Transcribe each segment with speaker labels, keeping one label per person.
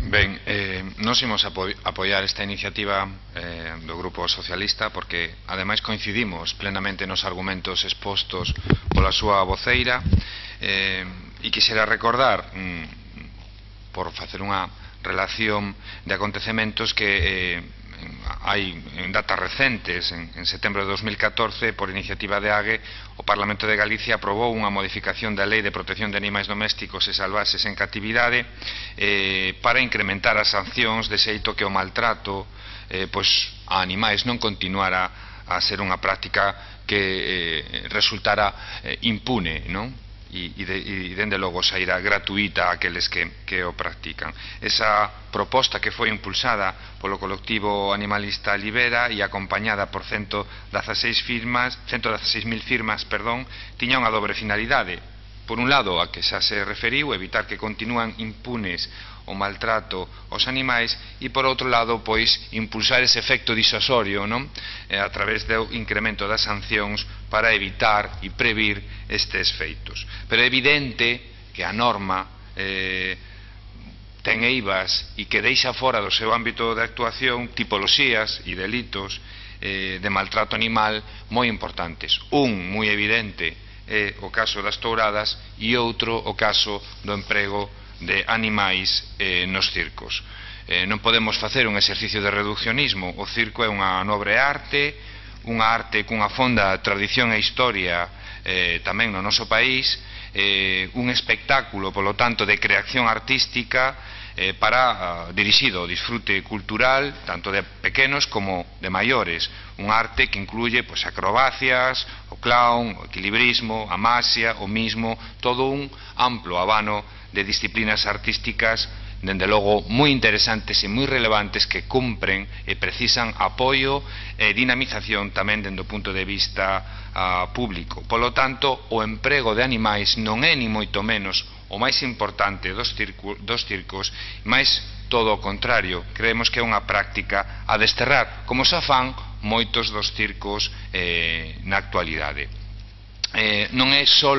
Speaker 1: Ben, nós imos apoiar esta iniciativa do Grupo Socialista porque, ademais, coincidimos plenamente nos argumentos expostos pola súa voceira e quixera recordar, por facer unha relación de acontecementos, que hai en datas recentes, en setembro de 2014, por iniciativa de AGE, o Parlamento de Galicia aprobou unha modificación da Lei de Protección de Animais Domésticos e Salvaxes en Catividade para incrementar as sancións, de xeito que o maltrato a animais non continuara a ser unha práctica que resultara impune, non? E dende logo sairá gratuita aqueles que o practican. Esa proposta, que foi impulsada polo colectivo animalista Libera e acompañada por 116.000 firmas, tiña unha dobre finalidade. Por un lado, a que xa se referiu, evitar que continúan impunes o maltrato aos animais, e por outro lado, pois, impulsar ese efecto disuasorio, non? A través do incremento das sancións para evitar e previr estes feitos. Pero é evidente que a norma ten eivas e que deixa fora do seu ámbito de actuación tipoloxías e delitos de maltrato animal moi importantes. Un moi evidente é o caso das touradas e outro o caso do emprego de animais nos circos. Non podemos facer un exercicio de reduccionismo. O circo é unha nobre arte, unha arte cunha fonda tradición e historia tamén no noso país, un espectáculo, polo tanto, de creación artística dirixido ao disfrute cultural, tanto de pequenos como de maiores. Un arte que incluye acrobacias, o clown, o equilibrismo, a maxia, o mismo, todo un amplo abano de disciplinas artísticas, dende logo moi interesantes e moi relevantes, que cumpren e precisan apoio e dinamización tamén dende o punto de vista público. Polo tanto, o emprego de animais non é ni moito menos o máis importante dos circos, mais todo o contrario. Creemos que é unha práctica a desterrar, como xa fan moitos dos circos na actualidade. Non é só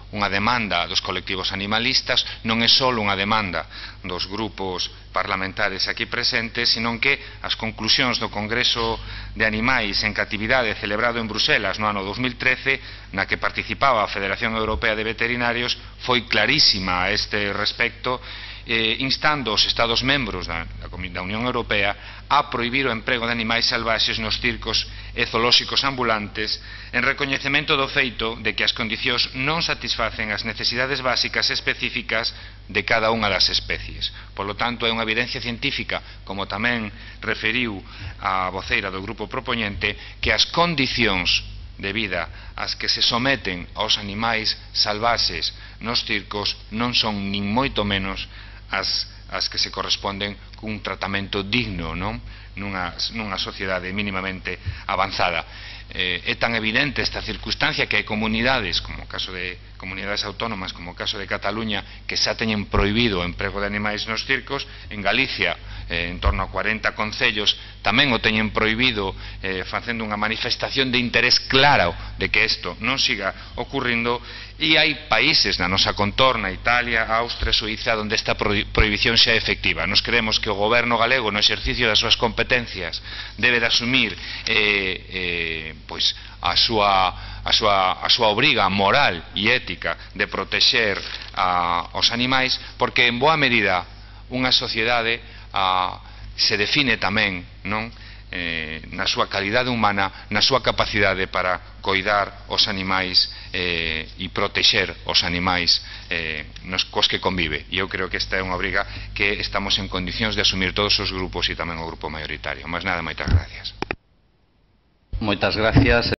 Speaker 1: unha demanda dos colectivos animalistas, non é só unha demanda dos grupos parlamentares aquí presentes, senón que as conclusións do Congreso de Animais en Catividade celebrado en Bruselas no ano 2013, na que participaba a Federación Europea de Veterinarios, foi clarísima a este respecto, instando os Estados membros da Unión Europea a prohibir o emprego de animais salvaxes nos circos e zoolóxicos ambulantes, en recoñecemento do feito de que as condicións non satisfacen as necesidades básicas específicas de cada unha das especies. Polo tanto, é unha evidencia científica, como tamén referiu a voceira do grupo propoñente, que as condicións de vida ás que se someten aos animais salvaxes nos circos non son nin moito menos as que se corresponden cun tratamento digno, non? Nunha sociedade mínimamente avanzada. É tan evidente esta circunstancia que hai comunidades, como o caso de comunidades autónomas, como o caso de Cataluña, que xa teñen prohibido o emprego de animais nos circos. En Galicia, en torno a 40 concellos, tamén o teñen prohibido, facendo unha manifestación de interés claro de que isto non siga ocurrindo. E hai países na nosa contorna, Italia, Austria, Suiza, onde esta prohibición xa é efectiva. Nos creemos que o goberno galego, no exercicio das súas competencias, debe de asumir a súa obriga moral e ética de protexer aos animais, porque en boa medida unha sociedade se define tamén, non, na súa calidade humana, na súa capacidade para coidar os animais e protexer os animais cos que convive. E eu creo que esta é unha obriga que estamos en condicións de asumir todos os grupos e tamén o grupo maioritario. Máis nada, moitas gracias.
Speaker 2: Moitas gracias.